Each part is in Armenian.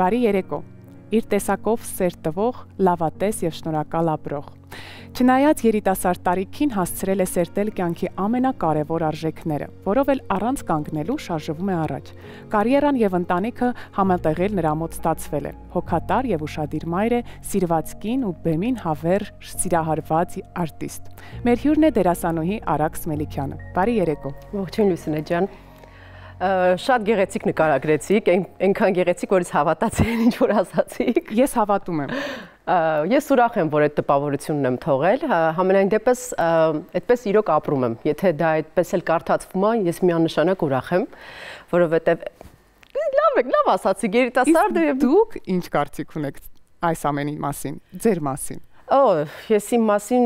Բարի երեկո, իր տեսակով սեր տվող, լավատես և շնորհակալ ապրող։ Չնայած երիտասարդ տարիքին հասցրել է սերտել կյանքի ամենակարևոր արժեքները, որով էլ առանց կանգնելու շարժվում է առաջ։ Կարիերան և ընտանիքը համատեղել նրա մոտ ստացվել է։ Հոգատար և ուշադիր մայր է, սիրված կին ու բեմին հավերժ սիրահարված արտիստ։ Մեր հյուրն է դերասանուհի Արաքս Մելիքյանը։ Բարի երեկո։ Ողջույն Լուսինե ջան։ Շատ գեղեցիկ նկարագրեցիք, այնքան գեղեցիկ, որ հավատացի ինչ որ ասացիք։ Ես հավատում եմ։ Ես ուրախ եմ, որ այդ տպավորությունն եմ թողել, համենայն դեպս այդպես իրոք ապրում եմ, եթե դա այդպես էլ կարդացվում է, ես միանշանակ ուրախ եմ, որովհետև լավ ասացիք, երիտասարդ եւ դուք ինչ կարծիք ունեք այս ամենի մասին, ձեր մասին։ Ես իմ մասին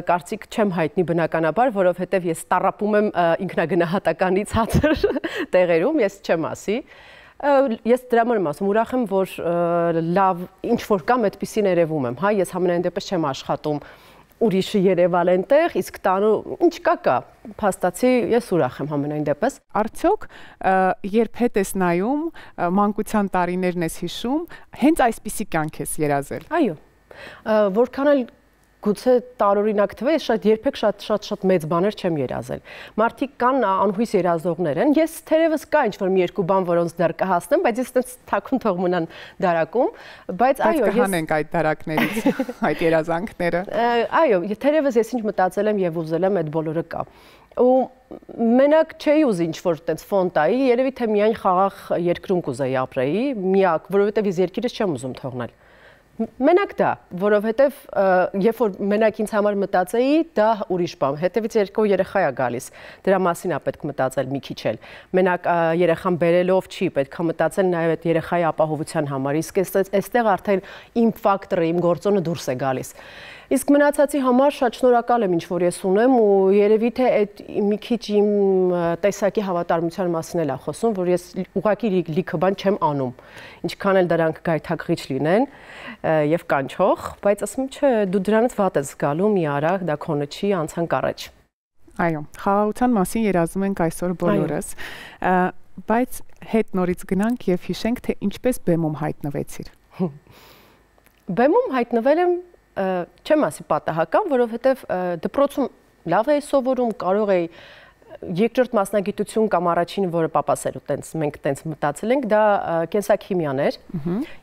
կարծիք չեմ հայտնի բնականաբար, որովհետև ես տառապում եմ ինքնագնահատականից ցածր տեղերում, ես չեմ ասի։ Ես դրա համար եմ ասում, ուրախ եմ, որ լավ ինչ որ կամ այդպեսին երևում եմ, հա, ես համենայն դեպս չեմ աշխատում ուրիշը երևալ այնտեղ, իսկ տանու ինչ կա, փաստացի ես ուրախ եմ համենայն դեպս։ Արդյոք երբ հետ ես նայում, մանկության տարիներն ես հիշում, հենց այսպիսի կյանք ես երազել։ Այո, որքան էլ գուցե տարօրինակ թվի, ես երբեք շատ մեծ բաներ չեմ երազել։ Մարդիկ կան անհույս երազողներ են։ Ես թերևս կա ինչ-որ մի երկու բան, որոնց դեռ կհասնեմ, բայց ես այդպես թաքուն թող մնան դարակում, բայց այո, ես կհանենք այդ դարակներից, այդ երազանքները։ Այո, թերևս ես ինչ մտածել եմ եւ ուզել եմ, այդ բոլորը կա։ Ու մենակ չէի ուզի ինչ-որ տենց ֆոնտայի, երևի թե միայն խաղաղ երկրում կուզեի ապրեի, միակ, որովհետեւ ես երկիրս չեմ ուզում թողնել։ Մենակ դա, որովհետև երբ որ մենակ ինձ համար մտածեի, դա ուրիշ բան, հետևից երկու երեխա է գալիս, դրա մասին է պետք մտածել մի քիչ էլ, մենակ երեխան բերելով չի, պետք է մտածել նաև այդ երեխայի ապահովության համար, իսկ այստեղ արդեն իմ ֆակտորը, իմ գործոնը դուրս է գալիս։ Իսկ մնացածի համար շատ շնորհակալ եմ ինչ որ ես ունեմ ու երևի թե այդ մի քիչ իմ տեսակի հավատարմության մասին էլ է խոսում, որ ես ուղղակի լիքը բան չեմ անում, ինչքան էլ դրանք գայթակղիչ լինեն եւ կանչող, բայց ասում չէ, դու դրանից վատ ես զգալու, մի արա, դա քոնը չի, անցանք առաջ։ Այո, խաղաղության մասին երազում ենք այսօր բոլորս, բայց հետ նորից գնանք եւ հիշենք, թե ինչպես բեմում հայտնվեցիր։ Բեմում հայտնվել եմ չեմ ասի պատահական, որովհետև դպրոցում լավ էի սովորում, կարող էի երկրորդ մասնագիտություն կամ առաջին, որը պապաս էր ու մենք տենց մտածել ենք, դա կենսաքիմիան էր։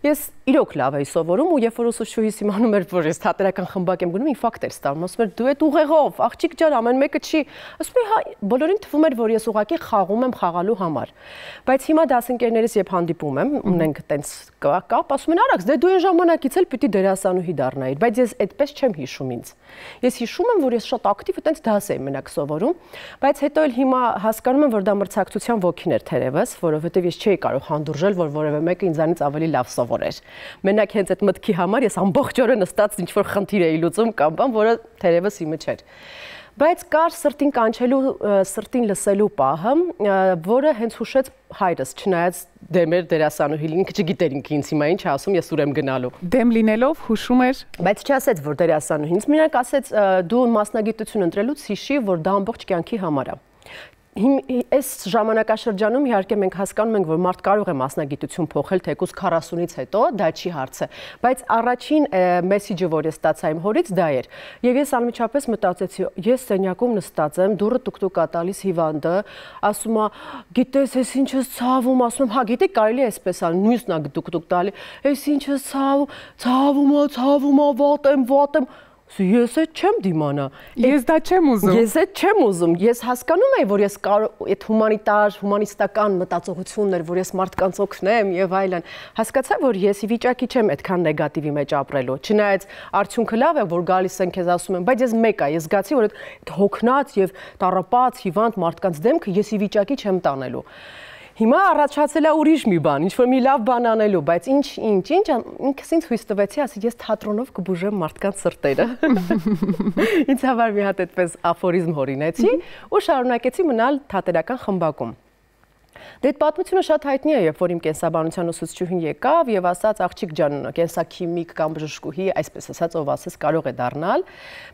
Ես իրոք լավ էի սովորում ու երբ որ ուսուցչուհիս իմանում էր, որ ես թատերական խմբակ եմ գնում, ինֆարկտ էր ստանում, ասում էր դու այդ ուղեղով, աղջիկ ջան, ամեն մեկը չի։ Ասում էի, հա, բոլորին թվում էր, որ ես ուղղակի խաղում եմ խաղալու համար։ Բայց հիմա դասընկերներիս երբ հանդիպում եմ, ունենք տենց կապ, ասում են Արաքս, դե դու այն ժամանակից էլ պիտի դերասանուհի դառնայիր, բայց ես այդպես չեմ հիշում ինձ։ Ես հիշում եմ, որ ես շատ ակտիվ տենց դաս էի մենակ սովորում, բայց հետո հիմա հասկանում եմ, որ դա մրցակցության ոգին էր թերևս, որովհետև ես չէի կարող հանդուրժել, որ որևէ մեկը ինձանից ավելի լավ սովորեր։ Մենակ հենց այդ մտքի համար ես ամբողջ օրը նստած ինչ-որ խնդիր էի լուծում կամ բան, որը թերևս իմը չէր։ Բայց կար սրտին կանչելու, սրտին լսելու պահը, որը հենց հուշեց հայրս, չնայած դեմ էր դերասանուհի, ինքը չգիտեր ինձ հիմա ինչ ասում, ես ուր եմ գնալու։ Դեմ լինելով հուշում էր, բայց չասեց, որ դերասանուհի, ինձ մենակ ասեց, դու մասնագիտություն ընտրելուց հիշի, որ դա ամբողջ կյանքի համար է։ Այս ժամանակաշրջանում իհարկե մենք հասկանում ենք, որ մարդ կարող է մասնագիտություն փոխել թեկուզ 40-ից հետո, դա չի հարցը, բայց առաջին մեսեջը, որ ես ստացա իմ հորից, դա էր։ Եվ ես անմիջապես մտածեցի, ես սենյակում նստած եմ, դուռը տուկ-տուկ ա տալիս հիվանդը, ասում է, գիտես, ես ինչ ես ցավում, ասում եմ, հա, գիտեք, կարելի է այսպես ալ, նույնն ա տուկ-տուկ տալի, ես ինչ ես ցավում, վատ եմ, ես այդ չեմ դիմանա։ Ես դա չեմ ուզում։ Ես այդ չեմ ուզում։ Ես հասկանում եմ, որ ես այդ հումանիստական մտածողությունն էր, որ ես մարդկանց օգնեմ եւ այլն։ Հասկացա, որ ես ի վիճակի չեմ այդքան նեգատիվի մեջ ապրելու։ Չնայած արդյունքը լավ է, որ գալիս են քեզ ասում են, բայց ես մեկ է, ես զգացի, որ այդ հոգնած եւ տառապած հիվանդ մարդկանց դեմքը ես ի վիճակի չեմ տանելու։ Հիմա առաջացել է ուրիշ մի բան, ինչ-որ մի լավ բան անելու, բայց ինչ, ինքս ինձ հույս տվեցի, ասի, ես թատրոնով կբուժեմ մարդկանց սրտերը։ Ինձ համար մի հատ այդպես աֆորիզմ հորինեցի ու շարունակեցի մնալ թատերական խմբակում։ Դե այդ պատմությունը շատ հայտնի է, երբ որ իմ կենսաբանության ուսուցչուհին եկավ եւ ասաց աղջիկ ջան, կենսաքիմիկ կամ բժշկուհի, այսպես ասած, ով ասես կարող է դառնալ,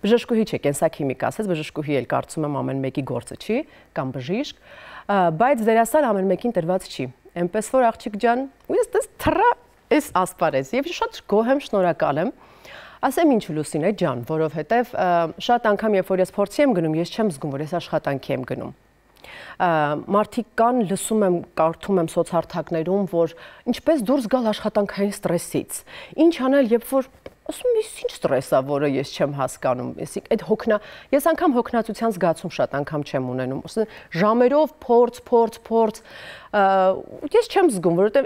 բժշկուհի չէ, կենսաքիմիկ ասեց, բժշկուհի էլ կարծում եմ ամեն մեկի գործը չի, կամ բժիշկ, բայց դերասան ամեն մեկին տրված չի։ Էնպես որ աղջիկ ջան, ու ես դες թռա Այս ասպարեզ եւ շատ գոհ եմ, շնորհակալ եմ։ Ասեմ ինչ Լուսինե ջան, որովհետեւ շատ անգամ երբ որ ես փորձի եմ գնում, ես չեմ զգում, որ ես աշխատանքի եմ գնում։ Մարդիկ կան, լսում եմ, կարդում եմ սոցհարթակներում, որ ինչպես դուրս գալ աշխատանքային ստրեսից։ Ինչ անել, երբ որ ասում եմ, ինչ ստրես է, որը ես չեմ հասկանում։ Ես անգամ հոգնածության զգացում շատ անգամ չեմ ունենում։ Ժամերով փորձ, ես չեմ զգում, որովհետև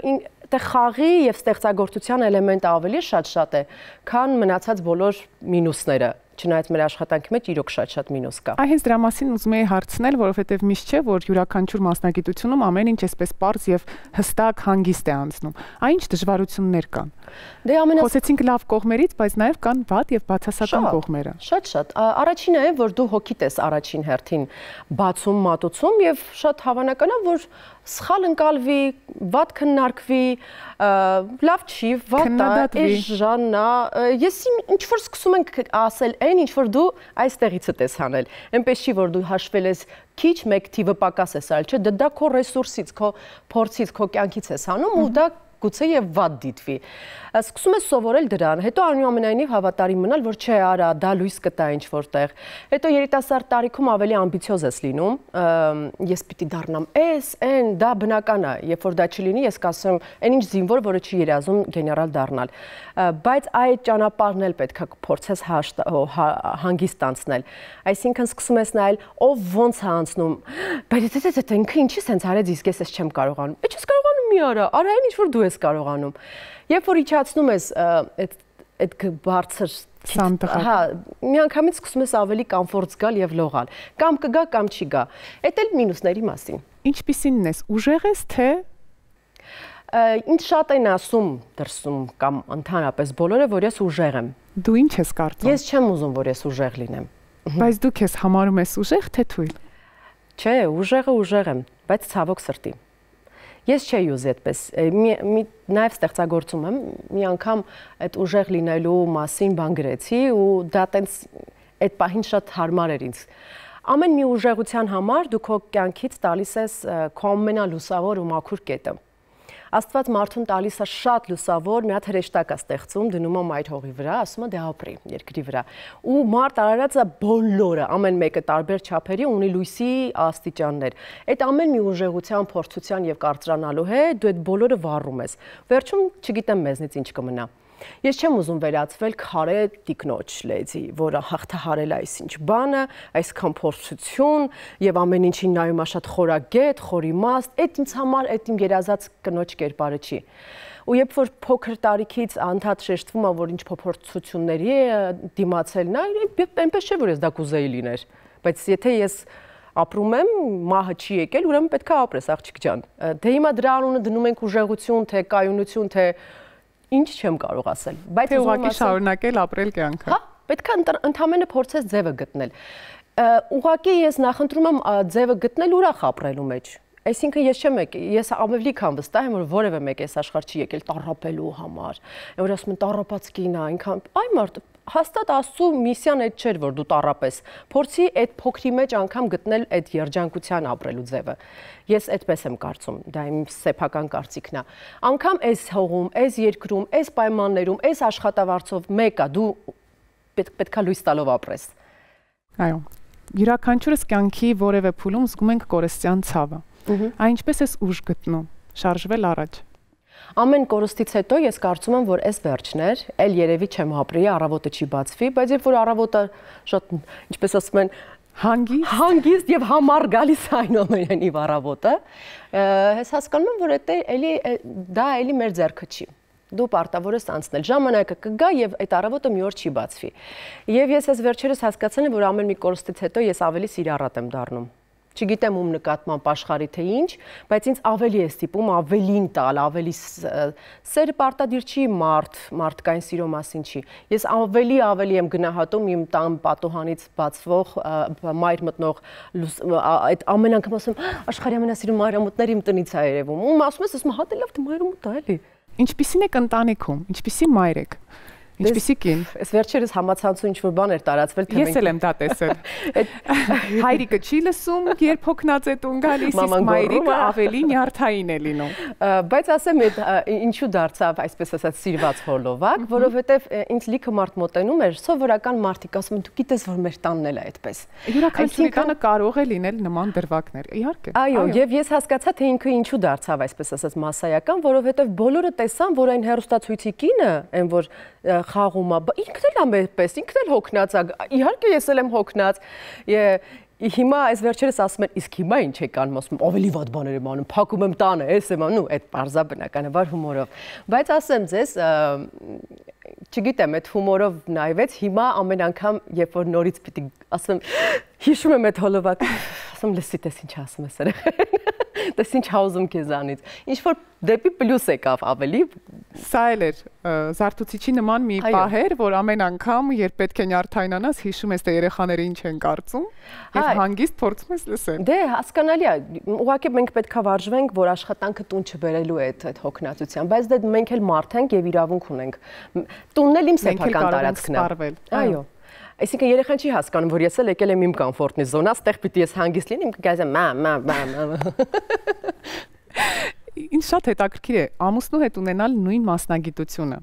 դե խաղի եւ ստեղծագործության էլեմենտը ավելի շատ է, քան մնացած բոլոր մինուսները։ Չնայած մեր աշխատանքի մեջ իրոք շատ մինուս կա։ Այ հենց դրա մասին ուզում եի հարցնել, որովհետև միշտ չէ, որ յուրաքանչյուր մասնագիտությունում ամեն ինչ էսպես պարզ եւ հստակ հանգիստ է անցնում։ Այն ինչ դժվարություններ կան։ Դե խոսեցինք լավ կողմերից, բայց նաեւ կան վատ եւ բացասական կողմերը։ Շատ։ Առաջինը է, որ դու հոգիդ ես առաջին հերթին բացում, մատուցում եւ շատ հավանական է, որ սխալ ընկալվի, վատ քննարկվի, լավ չի, վատ է, էժան է։ Ես ինչ որ սկսում ենք ասել այն, ինչ որ դու այստեղից ես հանել։ Այնպես չի, որ դու հաշվել ես քիչ, մեկ թիվը պակաս ես արել, չէ, դա քո ռեսուրսից, քո փորձից, քո կյանքից ես հանում ու դա գուցե եւ վատ դիտվի։ Սկսում ես սովորել դրան, հետո այնուամենայնիվ հավատարիմ մնալ, որ չէ, արա, դա լույս կտա ինչ որտեղ։ Հետո երիտասարդ տարիքում ավելի ամբիցիոզ ես լինում, ես պիտի դառնամ այն, դա բնական է, երբ որ դա չլինի, ես կասեմ, այն ինչ զինվոր, որը չի երազում գեներալ դառնալ։ Բայց այդ ճանապարհն էլ պետք է փորձես հանգիստ անցնել։ Այսինքն սկսում ես նայել, ով ոնց է անցնում։ Բայց դա ինքը ինչի սենց արեց, իսկ ես չեմ կարողանում։ Բայց ես կարողանում մի արա այն ինչ որ դու ես կարողանում։ Երբ որ իջացնում ես այդ բարձր սանդղակ, միանգամից սկսում ես ավելի կոմֆորտ զգալ եւ լողալ։ Կամ կգա, կամ չի գա։ Էդ էլ մինուսների մասին։ Ինչպիսինն ես, ուժեղ ես, թե ինձ շատ են ասում դրսում կամ ընդհանրապես բոլորը, որ ես ուժեղ եմ։ Դու ինչ ես կարծում։ Ես չեմ ուզում, որ ես ուժեղ լինեմ։ Բայց դու քեզ համարում ես ուժեղ, թե թույլ։ Չէ, ուժեղը ուժեղ եմ, բայց ցավոք սրտի։ Ես չէի ուզի այդպես, նաև ստեղծագործում եմ, մի անգամ այդ ուժեղ լինելու մասին բան գրեցի ու դա տենց այդ պահին շատ հարմար էր ինձ։ Ամեն մի ուժեղության համար դու քո կյանքից տալիս ես քո ամենալուսավոր ու մաքուր կետը։ Աստված մարդուն տալիս է շատ լուսավոր, մի հատ հրեշտակ է ստեղծում, դնում է մայր հողի վրա, ասում է դե ապրի երկրի վրա։ Ու մարդ արարածը բոլորը, ամեն մեկը տարբեր չափերի ունի լույսի աստիճաններ։ Այդ ամեն մի ուժեղության, փորձության եւ կարծրանալու հետ դու այդ բոլորը վառում ես։ Վերջում չգիտեմ մեզնից ինչ կմնա։ Ես չեմ ուզում վերածվել քարե տիկնոջ լեզի, որը հաղթահարել է այսինչ բանը, այսքան փորձություն եւ ամեն ինչին նայում է շատ խորագետ, խորիմաստ, այդ ինձ համար այդ իմ երազած կնոջ կերպարը չի։ Ու երբ որ փոքր տարիքից անդադ շեշտվում է, որ ինչ փոփոխությունների է դիմացել նա, այնպես չէ որ ես դա կուզեի լիներ, բայց եթե ես ապրում եմ, մահը չի եկել, ուրեմն պետք է ապրես, աղջիկ ջան։ Դե հիմա դրա անունը դնում ենք ուժեղություն, թե կայունություն, թե ինչ չեմ կարող ասել, բայց ուղղակի շարունակել ապրել կյանքը։ Հա, պետք է ընդամենը փորձես ձևը գտնել։ Ուղղակի ես նախընտրում եմ ձևը գտնել ուրախ ապրելու մեջ։ Այսինքն ես ավելի քան վստահ եմ, որ որևէ մեկ այս աշխարհ չի եկել տառապելու համար։ Որ ասում են տառապած կին է, այնքան այ մարդ հաստատ Աստծո միսիան այդ չէր, որ դու տառապես։ Փորձի այդ փոքրի մեջ անգամ գտնել այդ երջանկության ապրելու ձևը։ Ես այդպես եմ կարծում, դա իմ սեփական կարծիքն է։ Անկամ այս հողում, այս երկրում, այս պայմաններում, այս աշխատավարձով մեկը դու պետքա լույս տալով ապրես։ Այո։ Յուրաքանչյուրս կյանքի որևէ փուլում զգում ենք կորստյան ցավը։ Այն ինչպես ես ուժ գտնում, շարժվել առաջ։ Ամեն կորստից հետո ես կարծում եմ, որ այս վերջն էր, էլ երևի չեմ ապրի, առավոտը չի բացվի, բայց երբ որ առավոտը շատ, ինչպես ասում են, հանգիստ եւ համառ գալիս այնուամենայնիվ առավոտը, ես հասկանում եմ, որ դա էլի մեր ձեռքը չի։ Դու պարտավոր ես անցնել, ժամանակը կգա եւ այդ առավոտը մի օր չի բացվի։ Եվ ես այս վերջերս հասկացել եմ, որ ամեն մի կորստից հետո ես ավելի սիրառատ եմ դառնում։ Չգիտեմ ում նկատմամբ աշխարհի թե ինչ, բայց ինձ ավելի է ստիպում ավելին տալ, ավելի սերը պարտադիր չի մարդկային սիրո մասին չի։ Ես ավելի եմ գնահատում իմ տան պատուհանից բացվող մայր մտնող այդ ամեն անգամ ասում աշխարհի ամենասիրուն մայրամուտները իմ տնից է երևում։ Ու ասում ես հա դե լավ թե մայրամուտ է էլի։ Ինչպիսին եք ընտանիքում, ինչպիսի մայր եք։ Ինչպիսի կին։ Այս վերջերս համացանցում ինչ-որ բան էր տարածվել, թե ես էլ եմ դա տեսել։ Հայրիկը չի լսում, երբ հոգնած է տուն գալիս, իսկ մայրիկը ավելի նյարդային է լինում։ Բայց ասեմ, ինչու դարձավ այսպես ասած սիրված հոլովակ, որովհետև ինձ լիքը մարդ մոտենում էր, սովորական մարդիկ ասում են, դու գիտես, որ մեր տանն էլ է այդպես։ Յուրաքանչյուրի տանը կարող է լինել նման դրվագներ, իհարկե։ Այո, եւ ես հասկացա, թե ինքը ինչու դարձավ այսպես ասած massայական, որովհետև բոլորը տեսան, որ այն հերոստացույցի կինը, այն որ խաղում է, ինքն էլ է այդպես, ինքն էլ հոգնած է։ Իհարկե ես էլ եմ հոգնած։ Հիմա այս վերջերս ասում են, իսկ հիմա ինչ եք անում, ասում ավելի վատ բաներ եմ անում, փակում եմ տանը, ես եմ անում, այդ բարձա բնականաբար հումորով։ Բայց ասեմ ձեզ, չգիտեմ, այդ հումորով նայվեց, հիմա ամեն անգամ, երբ որ նորից պիտի ասեմ, հիշում եմ այդ հոլովակը, ասում լսի, տես ինչ ասում ես երեխան։ Տես ինչ հաուզում քեզանից։ Ինչ որ դեպի պլյուս եկավ ավելի։ Սա էլ էր զարթուցիչի նման մի պահ էր, որ ամեն անգամ, երբ պետք է նյարդայնանաս, հիշում ես, թե երեխաները ինչ են կարծում, եւ հանգիստ փորձում ես լսել։ Դե հասկանալի է, ուղղակի մենք պետքա վարժվենք, որ աշխատանքը տուն չբերելու է այդ հոգնածության, բայց դե մենք էլ մարդ ենք եւ իրավունք ունենք։ Տունն էլ իմ սեփական տարածքն է։ Այո։ Այսինքն երեխան չի հասկանում, որ ես էլ եկել եմ իմ կոմֆորտնի զոնա, այդտեղ պիտի ես հանգիստ լինեմ, գազեմ Ինչ շատ հետաքրքիր է ամուսնու հետ ունենալ նույն մասնագիտությունը։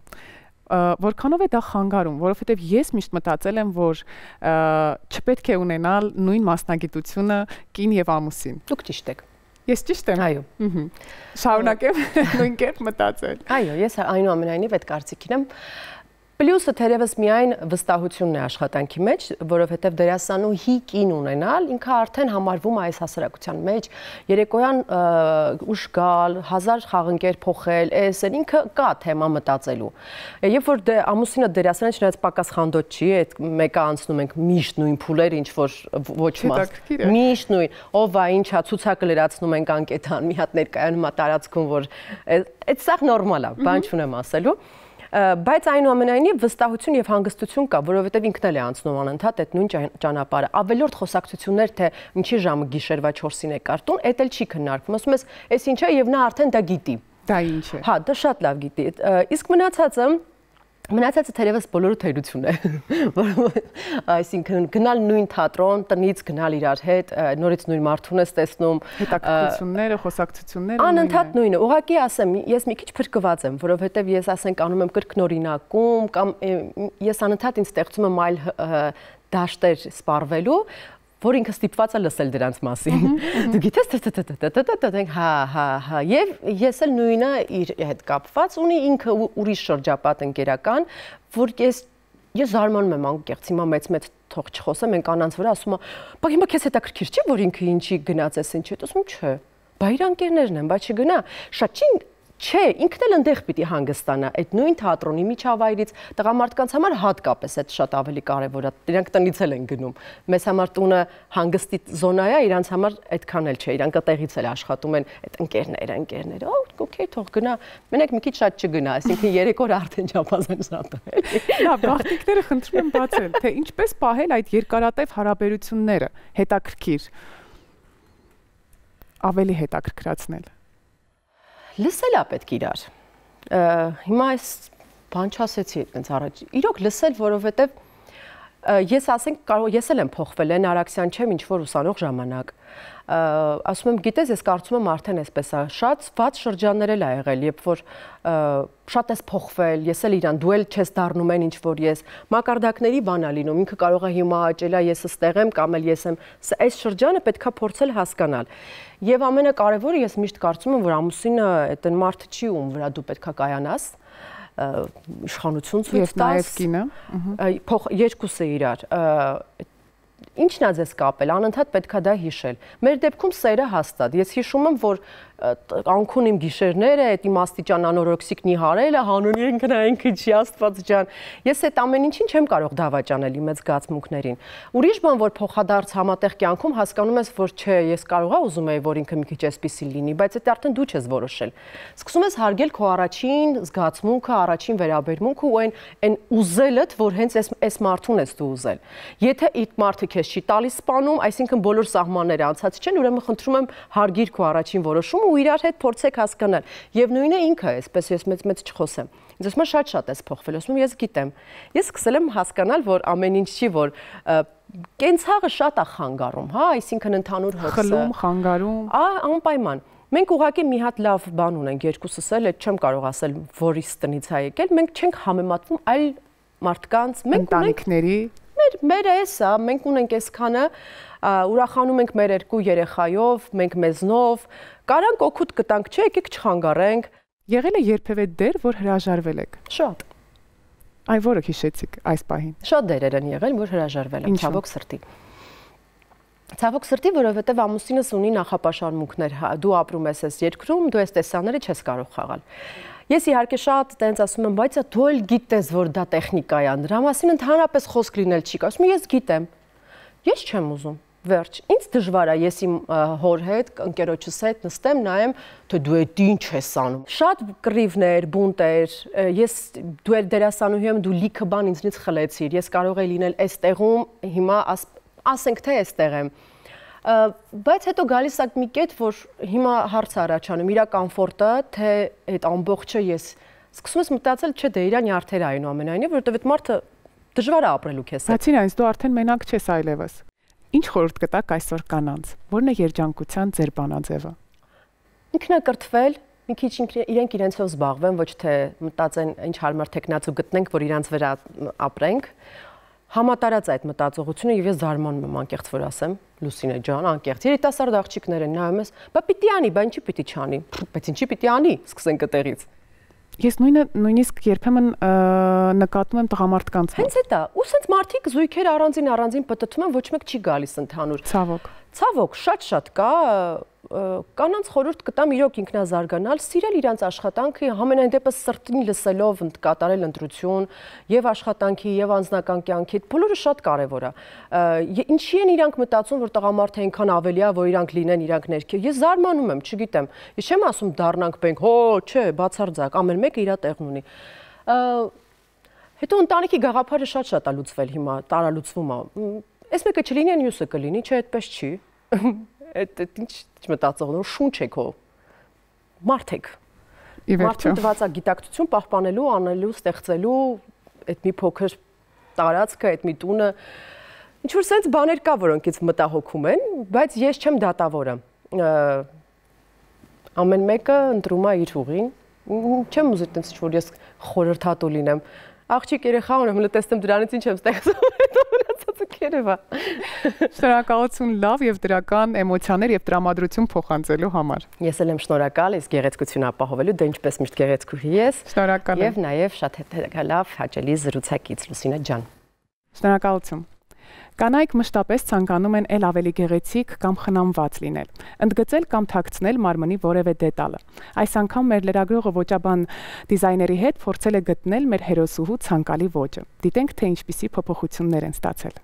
Որքանով է դա խանգարում, որովհետև ես միշտ մտածել եմ, որ չպետք է ունենալ նույն մասնագիտությունը կին եւ ամուսին։ Դուք ճիշտ եք։ Ես ճիշտ եմ։ Այո։ Շարունակեմ նույն կերպ մտածել։ Այո, ես այնուամենայնիվ այդ կարծիքին եմ։ Պլյուսը թերևս միայն վստահությունն է աշխատանքի մեջ, որովհետև դերասանուհի կին ունենալ, ինքը արդեն համարվում է այս հասարակության մեջ, երեկոյան ուշ գալ, 1000 խաղընկեր փոխել, էսեն ինքը կա թեմա մտածելու։ Երբ որ ամուսինը դերասան է, չնայած պակաս խանդոտ չի, այդ մեկը անցնում ենք միշտ նույն փուլեր, ինչ որ ոչ մաս։ Միշտ նույն, ով է, ինչա, ցուցակը լրացնում ենք անկետան, մի հատ ներկայանում է տարածքում, որ այդ սա նորմալ է, բան չունեմ ասելու։ Բայց այնուամենայնիվ վստահություն եւ հանգստություն կա, որովհետեւ ինքն էլ է անցնում անընդհատ այդ նույն ճանապարհը։ Ավելորդ խոսակցություններ, թե ինչի ժամը գիշերվա 4-ին է կարտուն, էդ էլ չի քննարկվում։ Ասում ես, «Էս ինչ է» եւ նա արդեն դա գիտի։ Դա ինչ է։ Հա, դա շատ լավ գիտի։ Իսկ մնացածը թերևս բոլորը թերություն է։ Այսինքն գնալ նույն թատրոն, տնից գնալ իրար հետ, նորից նույն մարդուն ես տեսնում, հետաքրքրությունները, խոսակցությունները անընդհատ նույնը։ Ուղղակի ասեմ, ես մի քիչ փրկված եմ, որովհետև ես ասենք անում եմ կրկնօրինակում կամ ես անընդհատ ինձ ստեղծում եմ այլ դաշտեր սպառվելու, որ ինքը ստիպված է լսել դրանց մասին։ Դու գիտես, հա, եւ ես էլ նույնը իր հետ կապված ունի ինքը ուրիշ շրջապատ ընկերական, որ ես զարմանում եմ անկեղծ, հիմա մեծ թող չխոսեմ, են կանանց վրա ասում է, բա հիմա քեզ հետաքրքիր չի, որ ինքը ինչի գնաց էս ինչ է, ասում չէ, բա իր ընկերներն են, բա չգնա, շատ չի Չէ, ինքն էլ ընդեղ պիտի հանգստանա այդ նույն թատրոնի միջավայրից, տղամարդկանց համար հատկապես այդ շատ ավելի կարևոր է, իրանք տնից էլ են գնում, մեզ համար տունը հանգստի զոնա է, իրանց համար այդքան էլ չէ, իրանք տեղից էլ աշխատում են այդ ընկերները, օքեյ, թող գնա, մենակ մի քիչ շատ չգնա, այսինքն 3 օր արդեն չափազանց շատ է։ Լավ, գաղտնիքները խնդրում եմ բացել, թե ինչպես պահել այդ երկարատև հարաբերությունները, հետաքրքիր, ավելի հետաքրքրացնել։ Լսել է պետք իրար։ Հիմա այս բան չասեցի այդպես առաջ։ Իրոք լսել, որովհետև ես ասենք ես էլ եմ փոխվել, են Արաքսյան չեմ, ինչ որ ուսանող ժամանակ։ Ասում եմ, գիտես, ես կարծում եմ արդեն այսպես է, շատ վատ շրջաններ էլ ա եղել, երբ որ շատ ես փոխվել, ես էլ իրան, դու էլ չես դառնում են ինչ որ ես, մակարդակների բան է լինում, ինքը կարող է հիմա աճելա, ես ստեղ եմ կամ էլ ես եմ, այս շրջանը պետքա փորձել հասկանալ։ Եվ ամենակարևորը ես միշտ կարծում եմ, որ ամուսինը այդ մարդը չի, ում վրա դու պետքա կայանաս, իշխանություն ցույց տաս, երկուսը իրար, ինչն է ձեզ կապել, անընդհատ պետքա դա հիշել։ Մեր դեպքում սերը հաստատ։ Ես հիշում եմ, որ անքուն իմ գիշերները, այդ իմ աստիճան անորոքսիկնի հարելը, հանուն ինքը չի Աստված ջան։ Ես այդ ամեն ինչին չեմ կարող դավաճանել իմ այդ զգացմունքներին։ Ուրիշ բան, որ փոխադարձ համատեղ կյանքում հասկանում ես, որ չէ, ես կարողա ուզում եի, որ ինքը մի քիչ էսպիսի լինի, բայց այդ արդեն դու չես որոշել։ Սկսում ես հարգել քո առաջին զգացմունքը, առաջին վերաբերմունքը ու այն ուզելդ, որ հենց այս մարդուն ես դու ուզել։ Եթե այդ մարդը քեզ չի տալիս սպանում, այսինքն բոլոր սահմանները անցած չեն, ուրեմն խնդրում եմ հարգիր քո առաջին որոշումը ու իրար հետ փորձեք հասկանալ։ Եվ նույնը ինքը, այսպես ես մեծ չխոսեմ։ Ինձ ասում է շատ էս փոխվել, ասում եմ ես գիտեմ։ Ես սկսել եմ հասկանալ, որ ամեն ինչ չի, որ կենցաղը շատ է խանգարում, հա, այսինքն ընդհանուր հոգսը։ Խլում, խանգարում։ Անպայման։ Մենք ուղղակի մի հատ լավ բան ունենք երկուսս էլ, այդ չեմ կարող ասել, որից տնից է եկել, մենք չենք համեմատվում այլ մարդկանց, մենք ընտանիքների մեր էսա, մենք ունենք այսքանը, ուրախանում ենք մեր 2 երեխայով, մենք մեզնով, կարանք օգուտ կտանք, չէ, եկեք չխանգարենք։ Եղել է երբևէ դեր, որ հրաժարվել եք։ Շատ։ Այ որը հիշեցիք այս պահին։ Շատ դերեր են եղել, որ հրաժարվել եմ, ցավոք սրտի։ Ցավոք սրտի, որովհետև ամուսինս ունի նախապաշարմունքներ, դու ապրում ես այս երկրում, դու այս տեսաները չես կարող խաղալ։ Ես իհարկե շատ տենց ասում եմ, բայց դու էլ գիտես, որ դա տեխնիկա է, դրա մասին ընդհանրապես խոսք լինել չի կա։ Ասում եմ, ես գիտեմ։ Ես չեմ ուզում։ Վերջ, ինձ դժվար է ես իմ հոր հետ, ընկերոջս հետ նստեմ, նայեմ, թե դու այդ ինչ ես անում։ Շատ կռիվներ, բունտեր, դու էլ դերասանուհի եմ, դու լիքը բան ինձնից խլեցիր, ես կարող էի լինել այս տեղում, հիմա ասենք թե այստեղ եմ։ Բայց հետո գալիս է մի կետ, որ հիմա հարց առաջանում, իր կոմֆորտը, թե այդ ամբողջը ես սկսում ես մտածել, չէ, դե իր նյարդերը այնուամենայնիվ, որովհետև այդ մարդը դժվար է ապրելու քեզ հետ։ Բացի այնից, դու արդեն մենակ չես այլևս։ Ինչ խորհուրդ կտաք այսօր կանանց։ Որն է երջանկության ձեր բանաձևը։ Ինքնակրթվել, մի քիչ իրենք իրենցով զբաղվեն, ոչ թե մտածեն ինչ հարմար տեխնացու գտնենք, որ իրանց վրա ապրենք։ Համատարած այդ մտածողությունը եւ ես զարմանում եմ անկեղծ որ ասեմ, Լուսինե ջան, անկեղծ։ Երիտասարդ աղջիկներ են նայում ես, բա պիտի անի, բա ինչի պիտի չանի։ Բայց ինչի պիտի անի, սկսենք այդտեղից։ Ես նույնիսկ երբեմն նկատում եմ տղամարդկանց։ Հենց էտա, ու սենց մարդիկ զույգեր առանձին պտտում են, ոչ մեկ չի գալիս ընդհանուր։ Ցավոք, շատ կա, կանանց խորհուրդ կտամ իրոք ինքնազարգանալ, սիրել իրանց աշխատանքը, համենայն դեպս սրտին լսելով կատարել ընտրություն եւ աշխատանքի եւ անձնական կյանքի, բոլորը շատ կարեւոր է։ Ինչի են իրանք մտածում, որ տղամարդը այնքան ավելի է, որ իրանք լինեն իրանք ներքև։ Ես զարմանում եմ, չգիտեմ։ Ես չեմ ասում դառնանք բենք, հո, չէ, բացարձակ, ամեն մեկը իր տեղն ունի։ Հետո ընտանիքի գաղափարը շատ է լուծվել հիմա, տարալուծվում է։ Այս մեկը չլինի, մյուսը կլինի, չէ, այդպես չի։ Այդ ինչ մտածող նոր շունչ եք հո մարդ եք մարդուն տված է գիտակցություն պահպանելու, անելու, ստեղծելու այդ մի փոքր տարածքը, այդ մի տունը ինչ որ sense բաներ կա, որոնք ինձ մտահոգում են, բայց ես չեմ դատավորը։ Ամեն մեկը ընտրում է իր ուղին։ Չեմ ուզի տենց ինչ որ ես խորհրդատու լինեմ։ Աղջիկ երեխա ունեմ, լտեսtem դրանից ինչ եմ ստեղծում։ Շնորհակալություն լավ եւ դրական էմոցիաներ եւ տրամադրություն փոխանցելու համար։ Ես էլ եմ շնորհակալ, իսկ գեղեցկությունը ապահովելու, դե ինչպես միշտ գեղեցկուհի ես։ Շնորհակալ եմ։ Եվ նաեւ շատ լավ, հաճելի զրուցակից Լուսինե ջան։ Շնորհակալություն։ Կանայք մշտապես ցանկանում են ել ավելի գեղեցիկ կամ խնամված լինել, ընդգծել կամ թաքցնել մարմնի որևէ դետալը։ Այս անգամ մեր լրագրողը ոճաբան դիզայների հետ փորձել է գտնել մեր հերոսուհու ցանկալի ոճը։ Դիտենք, թե ինչպիսի փոփոխություններ են ստացել։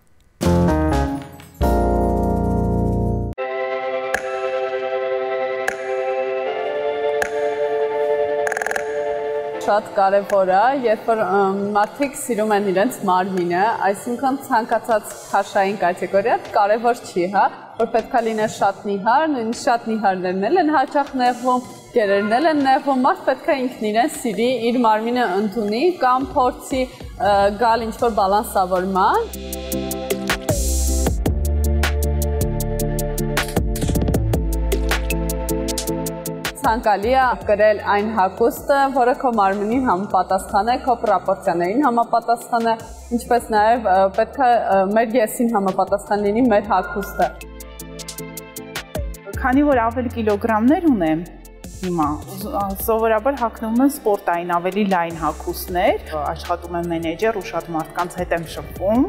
Շատ կարևոր է, երբ որ մարդիկ սիրում են իրենց մարմինը, այսինքն ցանկացած քաշային կատեգորիա կարևոր չի, հա, որ պետք է լիներ շատ նիհար, նույնիսկ շատ նիհարներն են հաճախ նեղվում, գերերն են նեղվում, մարդ պետք է ինքն իրեն սիրի, իր մարմինը ընդունի կամ փորձի գալ ինչ-որ բալանսավորման։ Ցանկալի է կրել այն հագուստը, որը քո մարմնին համապատասխան է, քո պրոպորցիաներին համապատասխան է, ինչպես նաև պետք է մեր եսին համապատասխան լինի մեր հագուստը։ Քանի որ ավելի կիլոգրամներ ունեմ հիմա, սովորաբար հագնում եմ սպորտային ավելի լայն հագուստներ, աշխատում եմ մենեջեր ու շատ մարդկանց հետ եմ շփվում,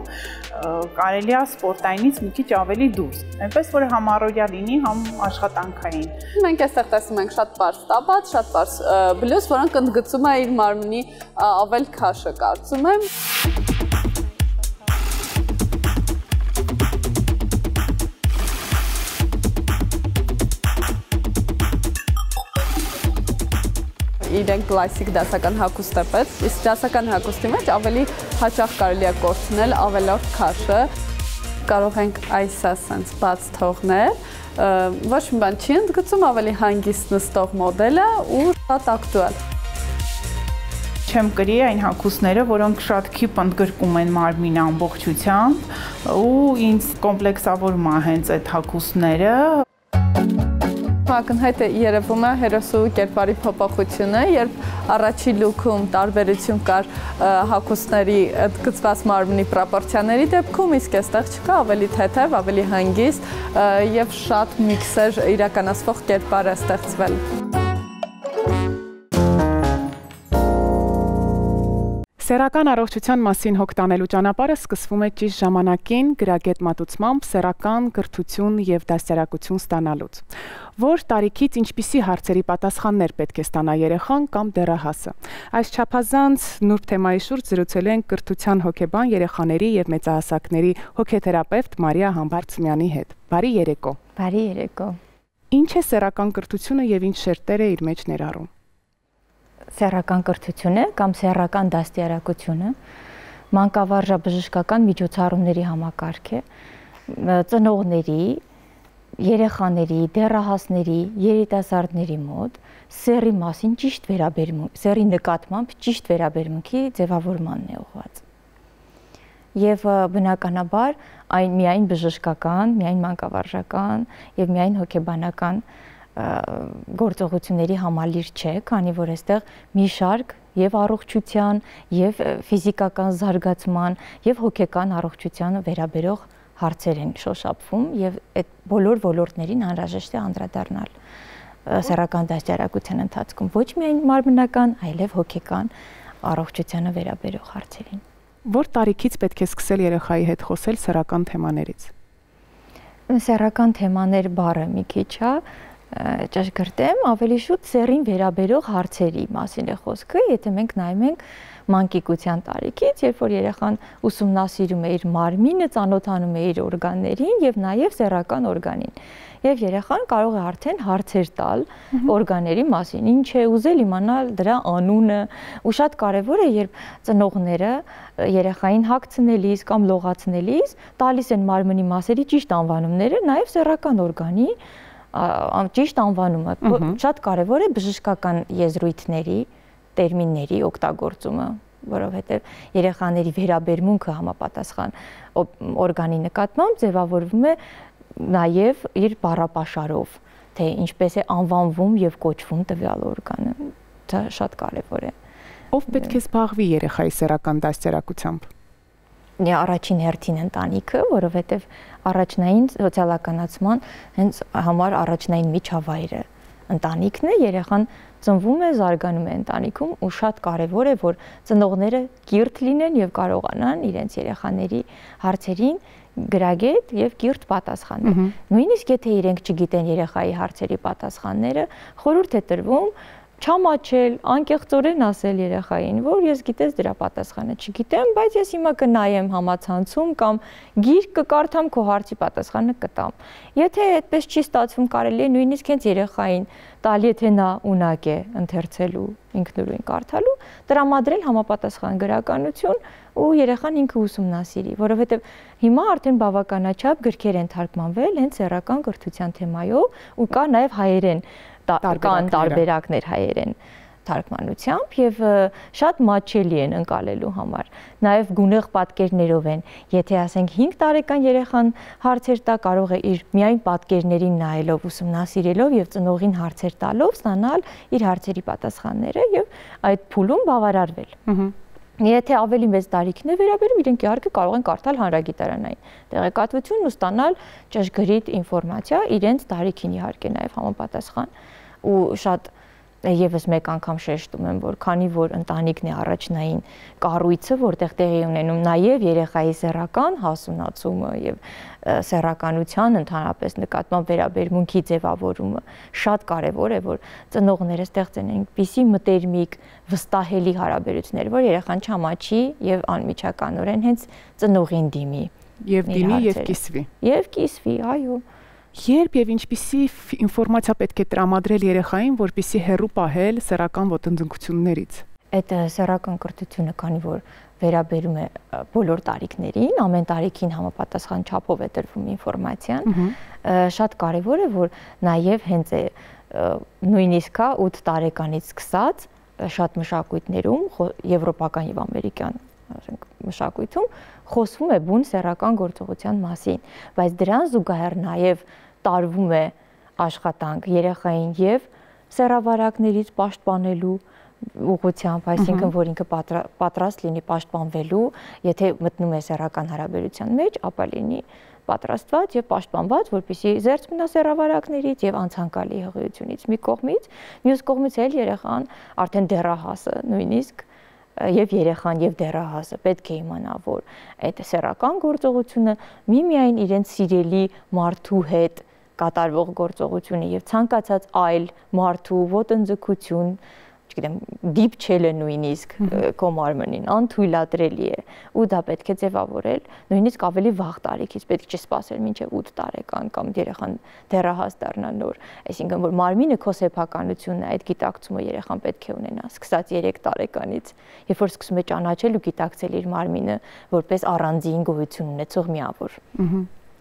կարելի է սպորտայինից մի քիչ ավելի դուրս, այնպես որ համ առօրյա լինի, համ աշխատանքային։ Մենք այստեղ տեսնում ենք շատ պարզ տաբատ, շատ պարզ բլյուզ, որոնք ընդգծում է իր մարմնի ավել քաշը, կարծում եմ։ Իրենք կլասիկ դասական հագուստ է պետք, իսկ դասական հագուստի մեջ ավելի հաճախ կարելի է կորցնել ավելորդ քաշը։ Կարող ենք այս ասենց բաց թողնել, ոչ մի բան չի ընդգծում, ավելի հանգիստ նստող մոդելը ու շատ ակտուալ։ Չեմ կրի այն հագուստները, որոնք շատ քիպ ընդգրկում են մարմինը ամբողջությամբ ու ինձ կոմպլեքսավորում է հենց այդ հագուստները։ Ակնհայտ է երևում է հերոսու կերպարի փոփոխությունը, երբ առաջի լուքում տարբերություն կար հագուստների ընդգծված մարմնի պրոպորցիաների դեպքում, իսկ այստեղ չկա, ավելի թեթև, ավելի հանգիստ եւ շատ միքսեր իրականացվող կերպար է ստեղծվել։ Սեռական առողջության մասին հոգ տանելու ճանապարհը սկսվում է ճիշտ ժամանակին գրագետ մատուցմամբ սեռական կրթություն եւ դաստիարակություն ստանալուց։ Որ տարիքից ինչպիսի հարցերի պատասխաններ պետք է ստանա երեխան կամ դեռահասը։ Այս չափազանց նուրբ թեմայի շուրջ զրուցել ենք կրթության հոգեբան երեխաների եւ մեծահասակների հոգեթերապևտ Մարիա Համբարձումյանի հետ։ Բարի երեկո։ Բարի երեկո։ Ինչ է սեռական կրթությունը եւ ինչ շերտեր է իր մեջ ներառում։ Սեռական կրթությունը կամ սեռական դաստիարակությունը մանկավարժաբժշկական միջոցառումների համակարգ է ծնողների, երեխաների, դեռահասների, երիտասարդների մոտ սեռի մասին ճիշտ վերաբերմունք, սեռի նկատմամբ ճիշտ վերաբերմունքի ձևավորմանն է ուղղված։ Եվ բնականաբար այն միայն բժշկական, միայն մանկավարժական եւ միայն հոգեբանական գործողությունների համալիր չէ, քանի որ այստեղ մի շարք եւ առողջության, եւ ֆիզիկական զարգացման, եւ հոգեկան առողջությանը վերաբերող հարցեր են շոշափվում եւ այդ բոլոր ոլորտներին անհրաժեշտ է անդրադառնալ սեռական դաստիարակության ընթացքում, ոչ միայն մարմնական, այլև հոգեկան առողջությանը վերաբերող հարցերին։ Որ տարիքից պետք է սկսել երեխայի հետ խոսել սեռական թեմաներից։ Սեռական թեմաներ բառը մի քիչ է ճշգրտեմ, ավելի շուտ սեռին վերաբերող հարցերի մասին է խոսքը, եթե մենք նայում ենք մանկիկության տարիքից, երբ որ երեխան ուսումնասիրում է իր մարմինը, ծանոթանում է իր օրգաններին եւ նաեւ սեռական օրգանին։ Եվ երեխան կարող է արդեն հարցեր տալ օրգանների մասին, ինչ է ուզել իմանալ դրա անունը, ու շատ կարեւոր է, երբ ծնողները երեխային հագցնելիս կամ լողացնելիս տալիս են մարմնի մասերի ճիշտ անվանումները, նաեւ սեռական օրգանի ճիշտ անվանումը, շատ կարևոր է բժշկական եզրույթների, տերմինների օգտագործումը, որովհետև երեխաների վերաբերմունքը համապատասխան օրգանի նկատմամբ ձևավորվում է նաև իր բառապաշարով, թե ինչպես է անվանվում եւ կոչվում տվյալ օրգանը, դա շատ կարևոր է։ Ով պետք է զբաղվի երեխայի սեռական դաստիարակությամբ։ Առաջին հերթին ընտանիքը, որովհետև առաջնային սոցիալականացման հենց համար առաջնային միջավայրը ընտանիքն է, երեխան ծնվում է, զարգանում է ընտանիքում ու շատ կարևոր է, որ ծնողները կիրթ լինեն եւ կարողանան իրենց երեխաների հարցերին գրագետ եւ կիրթ պատասխանել։ Նույնիսկ եթե իրենք չգիտեն երեխայի հարցերի պատասխանները, խորհուրդ է տրվում չամաչել, անկեղծորեն ասել երեխային, որ ես գիտես դրա պատասխանը չգիտեմ, բայց ես հիմա կնայեմ համացանցում կամ գիրք կկարդամ, քո հարցի պատասխանը կտամ։ Եթե այդպես չի ստացվում, կարելի է նույնիսկ հենց երեխային տալ, եթե նա ունակ է ընթերցելու, ինքնուրույն կարդալու, տրամադրել համապատասխան գրականություն ու երեխան ինքը ուսումնասիրի, որովհետև հիմա արդեն բավականաչափ գրքեր են թարգմանվել հենց սեռական կրթության թեմայով ու կա նաև հայերեն կան տարբերակներ հայերեն թարգմանությամբ եւ շատ մատչելի են ընկալելու համար։ Նաեւ գունեղ պատկերներով են։ Եթե ասենք 5 տարեկան երեխան հարցեր տա, կարող է իր միայն պատկերներին նայելով, ուսումնասիրելով եւ ծնողին հարցեր տալով ստանալ իր հարցերի պատասխանները եւ այդ փուլում բավարարվել։ Եթե ավելի մեծ տարիքն է վերաբերում, իրենք իհարկե կարող են կարդալ հանրագիտարանային տեղեկատվություն ու ստանալ ճշգրիտ ինֆորմացիա իրենց տարիքին իհարկե նաև համապատասխան ու շատ եւս մեկ անգամ շեշտում եմ, որ քանի որ ընտանիքն է առաջնային կառույցը, որտեղ տեղի ունենում նաև երեխայի սեռական հասունացումը եւ սեռականության ընդհանրապես նկատմամբ վերաբերմունքի ձևավորումը, շատ կարեւոր է, որ ծնողները ստեղծեն այնպիսի մտերմիկ, վստահելի հարաբերություններ, որ երեխան չամաչի եւ անմիջականորեն հենց ծնողին դիմի։ Եվ դիմի եւ կիսվի։ Եվ կիսվի, այո։ Երբ եւ ինչպիսի ինֆորմացիա պետք է տրամադրել երեխային, որպեսզի հեռու պահել սեռական ոտնձգություններից։ Այդ սեռական կրթությունը, քանի որ վերաբերում է բոլոր տարիքներին, ամեն տարիքին համապատասխան չափով է տրվում ինֆորմացիան։ Շատ կարևոր է, որ նաև հենց է նույնիսկ 8 տարեկանից սկսած շատ մշակույթներում, եվրոպական եւ ամերիկյան մշակույթում խոսվում է բուն սեռական գործողության մասին, բայց դրան զուգահեռ նաև տարվում է աշխատանք երեխային եւ սեռավարակներից պաշտպանելու ուղղությամբ, այսինքն որ ինքը պատրաստ լինի պաշտպանվելու, եթե մտնում է սեռական հարաբերության մեջ, ապա լինի պատրաստված եւ պաշտպանված, որպեսզի զերծ մնա սեռավարակներից եւ անցանկալի հղիությունից մի կողմից, մյուս կողմից էլ երեխան արդեն դեռահասը նույնիսկ եւ երեխան եւ դեռահասը պետք է իմանա, որ այդ սեռական գործողությունը միմիայն իրենց սիրելի մարդու հետ կատարվող գործողություն է եւ ցանկացած այլ մարդու ոտնձգություն, չգիտեմ, դիպչելը նույնիսկ քո մարմնին անթույլատրելի է ու դա պետք է ձևավորել նույնիսկ ավելի վաղ տարիքից, պետք չէ սպասել մինչև 8 տարեկան կամ երեխան դեռահաս դառնա նոր, այսինքն որ մարմինը քո սեփականությունն է, այդ գիտակցումը երեխան պետք է ունենա սկսած 3 տարեկանից, երբ որ սկսում է ճանաչել ու գիտակցել իր մարմինը որպես առանձին գոյություն ունեցող միավոր։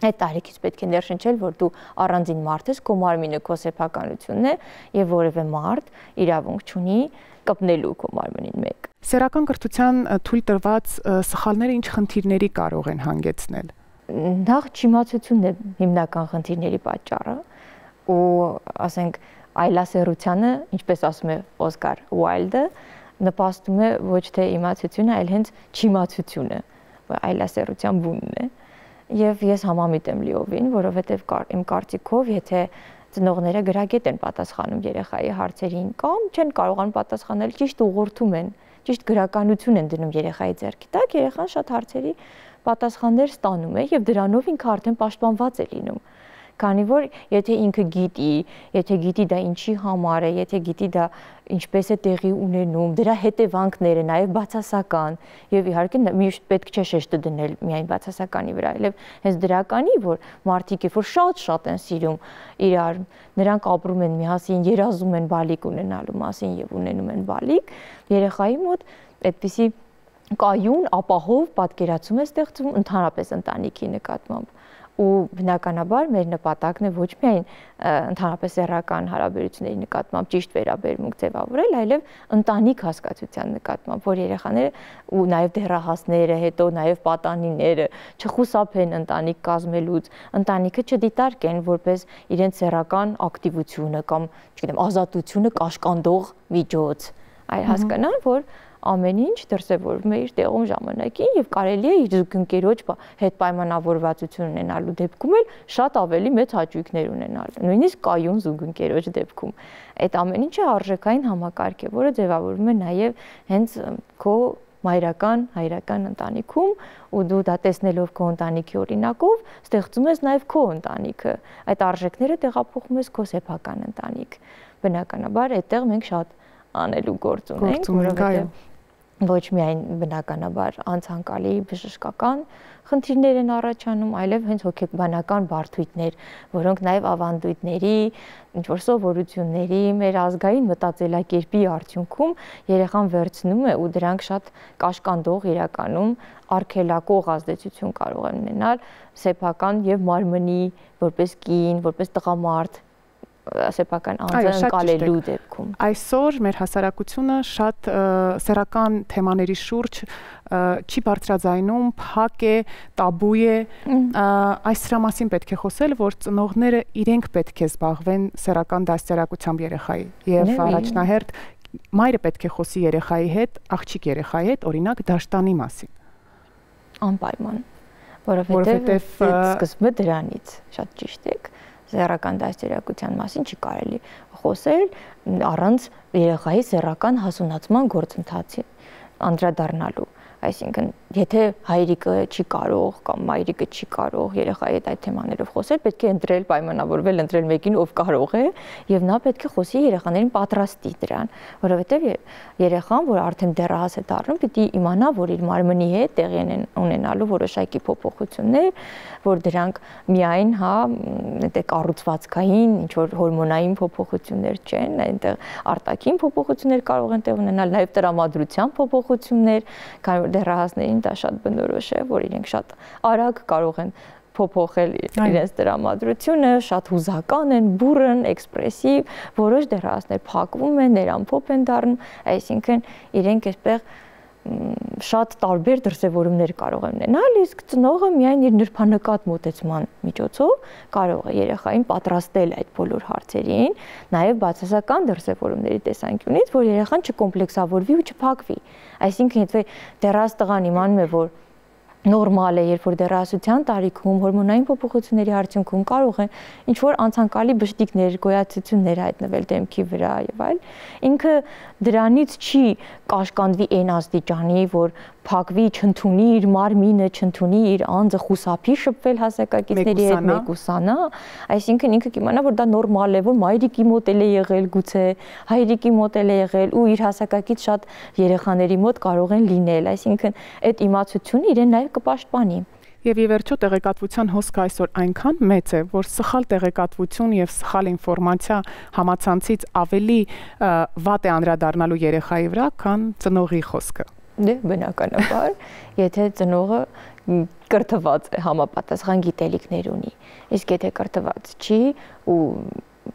Այդ տարիքից պետք է ներշնչել, որ դու առանձին մարդ ես, քո մարմինը քո սեփականությունն է եւ որևէ մարդ իրավունք չունի կպնելու քո մարմնին մեկ։ Սեռական կրթության թույլ տրված սխալները ինչ խնդիրների կարող են հանգեցնել։ Նախ չիմացությունն է հիմնական խնդիրների պատճառը ու ասենք այլասեռությանը, ինչպես ասում է Օսկար Ուայլդը, նպաստում է ոչ թե իմացությունը, այլ հենց չիմացությունը, այլասեռության բունն է։ Եվ ես համամիտ եմ լիովին, որովհետև իմ կարծիքով, եթե ծնողները գրագետ են պատասխանում երեխայի հարցերին կամ չեն կարողանում պատասխանել, ճիշտ ուղղորդում են, ճիշտ գրականություն են դնում երեխայի ձեռքի տակ, երեխան շատ հարցերի պատասխաններ ստանում է եւ դրանով ինքը արդեն պաշտպանված է լինում։ Քանի որ եթե ինքը գիտի դա ինչի համար է, եթե գիտի դա ինչպես է տեղի ունենում, դրա հետևանքները նաև բացասական եւ իհարկե միշտ պետք չէ շեշտը դնել միայն բացասականի վրա, այլև հենց դրականի, որ մարդիկ որ շատ են սիրում իրար, նրանք ապրում են միասին, երազում են բալիկ ունենալու մասին եւ ունենում են բալիկ, երեխայի մոտ այդպիսի կայուն, ապահով պատկերացում է ստեղծվում ընդհանրապես ընտանիքի նկատմամբ։ Ու բնականաբար մեր նպատակն է ոչ միայն ընդհանրապես սեռական հարաբերությունների նկատմամբ ճիշտ վերաբերմունք ձևավորել, այլև ընտանիք հասկացության նկատմամբ, որ երեխաները ու նաև դեռահասները, հետո նաև պատանիները չխուսափեն ընտանիք կազմելուց, ընտանիքը չդիտարկեն որպես իրենց սեռական ակտիվությունը կամ, չգիտեմ, ազատությունը կաշկանդող միջոց, այլ հասկանան, որ ամեն ինչ դրսևորվում է իր տեղում ժամանակին եւ կարելի է իր զուգընկերոջ հետ պայմանավորվածություն ունենալու դեպքում էլ շատ ավելի մեծ հաճույքներ ունենալ, նույնիսկ կայուն զուգընկերոջ դեպքում։ Այդ ամեն ինչը արժեքային համակարգ է, որը ձևավորվում է նաեւ հենց քո հայրական ընտանիքում ու դու դա տեսնելով քո ընտանիքի օրինակով ստեղծում ես նաեւ քո ընտանիքը։ Այդ արժեքները տեղափոխում ես քո սեփական ընտանիք։ Բնականաբար այդտեղ մենք շատ անելու գործ ունենք, որովհետեւ ոչ միայն բնականաբար անցանկալի բժշկական խնդիրներ են առաջանում, այլև հենց հոգեբանական բարդույթներ, որոնք նաև ավանդույթների, ինչ-որ սովորությունների, մեր ազգային մտածելակերպի արդյունքում երեխան վերցնում է ու դրանք շատ կաշկանդող իրականում արգելակող ազդեցություն կարող են ունենալ սեփական եւ մարմնի, որպես կին, որպես տղամարդ սեփական անձը ընկալելու դեպքում։ Այսօր մեր հասարակությունը շատ սեռական թեմաների շուրջ չի բարձրաձայնում, փակ է, տաբու է, այս դրա մասին պետք է խոսել, որ ծնողները իրենք պետք է զբաղվեն սեռական դաստիարակությամբ երեխայի եւ առաջնահերթ մայրը պետք է խոսի երեխայի հետ, աղջիկ երեխայի հետ, օրինակ դաշտանի մասին։ Անպայման, որովհետեւ սկսվում է դրանից, շատ ճիշտ եք։ Սեռական դաստիարակության մասին չի կարելի խոսել առանց երեխայի սեռական հասունացման գործընթացի անդրադառնալու։ Այսինքն, եթե հայրիկը չի կարող կամ մայրիկը չի կարող երեխայի հետ այդ թեմաներով խոսել, պետք է ընտրել, պայմանավորվել, ընտրել մեկին, ով կարող է, եւ նա պետք է խոսի երեխաներին պատրաստի դրան, որովհետեւ երեխան, որ արդեն դեռահաս է դառնում, պիտի իմանա, որ իր մարմնի հետ տեղի են ունենալու որոշակի փոփոխություններ, որ դրանք միայն կառուցվածքային, ինչ որ հորմոնային փոփոխություններ չեն, այնտեղ արտաքին փոփոխություններ կարող են տեղ ունենալ, նաեւ տրամադրության փոփոխություններ, քանի որ դեռահասներին դա շատ բնորոշ է, որ իրենք շատ արագ կարող են փոփոխել իրենց դրամատրությունը, շատ հուզական են, բուրըն, էքսպրեսիվ, որոշ դեռահասներ փակվում են, ներամփոփ են դառնում, այսինքն իրենք այսպես շատ տարբեր դրսևորումներ կարող են ունենալ, իսկ ծնողը միայն իր նրբանկատ մոտեցման միջոցով կարող է երեխային պատրաստել այդ բոլոր հարցերին, նաև բացասական դրսևորումների տեսանկյունից, որ երեխան չկոմպլեքսավորվի ու չփակվի։ Այսինքն, եթե դեռահաս տղան իմանում է, որ նորմալ է, երբ որ դեռահասության տարիքում հորմոնային փոփոխությունների արդյունքում կարող են ինչ որ անցանկալի բշտիկներ, գոյացություններ հայտնվել դեմքի վրա եւ այլ, ինքը դրանից չի կաշկանդվի այն աստիճանի, որ փակվի, չընդունի իր մարմինը, չընդունի իր անձը, խուսափի շփվել հասակակիցների հետ, մեկուսանա, այսինքն ինքը կիմանա, որ դա նորմալ է, որ մայրիկի մոտ էլ է եղել, գուցե հայրիկի մոտ էլ է եղել ու իր հասակակից շատ երեխաների մոտ կարող են լինել, այսինքն այդ իմացությունը իրեն նաև կպաշտպանի։ Եվ ի վերջո տեղեկատվության հոսքը այսօր այնքան մեծ է, որ սխալ տեղեկատվություն եւ սխալ ինֆորմացիա համացանցից ավելի վատ է անդրադառնալու երեխայի վրա, քան ծնողի խոսքը։ Դե բնականաբար, եթե ծնողը կրթված է, համապատասխան գիտելիքներ ունի, իսկ եթե կրթված չի ու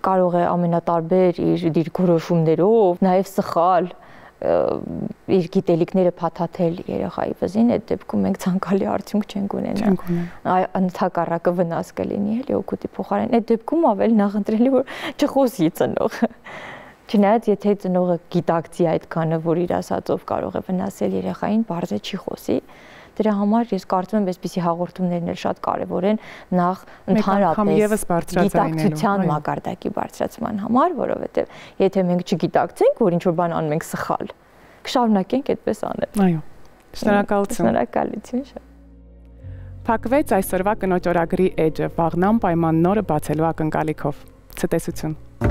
կարող է ամենատարբեր իր դիրքորոշումներով, նաև սխալ իր գիտելիքները փաթաթել երեխայի վզին, այդ դեպքում մենք ցանկալի արդյունք չենք ունենա։ Ընդհակառակը վնաս կլինի, էլի օգուտի փոխարեն։ Այդ դեպքում ավելի նախընտրելի որ չխոսի ծնողը։ Չնայած եթե ծնողը գիտակցի այդքանը, որ իր ասածով կարող է վնասել երեխային, բարձր չի խոսի։ Դրա համար ես կարծում եմ, այսպիսի հաղորդումներն էլ շատ կարևոր են նախ ընդհանրապես գիտակցության մակարդակի բարձրացման համար, որովհետև եթե մենք չգիտակցենք, որ ինչ-որ բան անում ենք սխալ, կշարունակենք այդպես անել։ Այո։ Շնորհակալություն։ Շնորհակալություն շատ։ Փակվեց այսօրվա կնոջ օրագրի էջը, վաղնամ պայման նորը բացելու ակնկալիքով։ Ցտեսություն։